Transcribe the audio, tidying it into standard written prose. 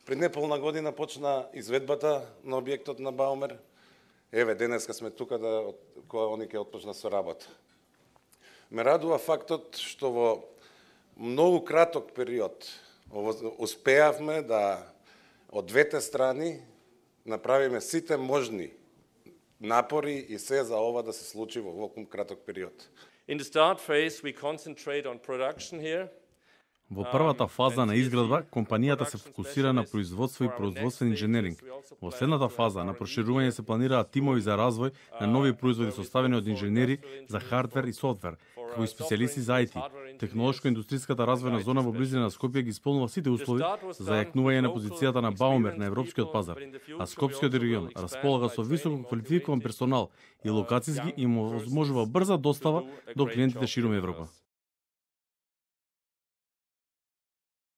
Пред неполна година почна изведбата на објектот на Баумер. Еве, денеска сме тука кога они ќе отпочна со работа. Ме радува фактот што во многу краток период успеавме да од двете страни направиме сите можни напори и се за ова да се случи во ваков краток период. In the start phase we concentrate on production here. Во првата фаза на изградба, компанијата се фокусира на производство и производствен инженеринг. Во следната фаза на проширување се планираат тимови за развој на нови производи составени од инженери за хардвер и софтвер, како и специјалисти за IT. Технолошко-индустријската развојна зона во близина на Скопје ги исполнува сите услови за зајакнување на позицијата на Баумер на европскиот пазар, а Скопскиот регион располага со високо квалификован персонал и локацијски им овозможува брза достава до клиентите ширум Европа.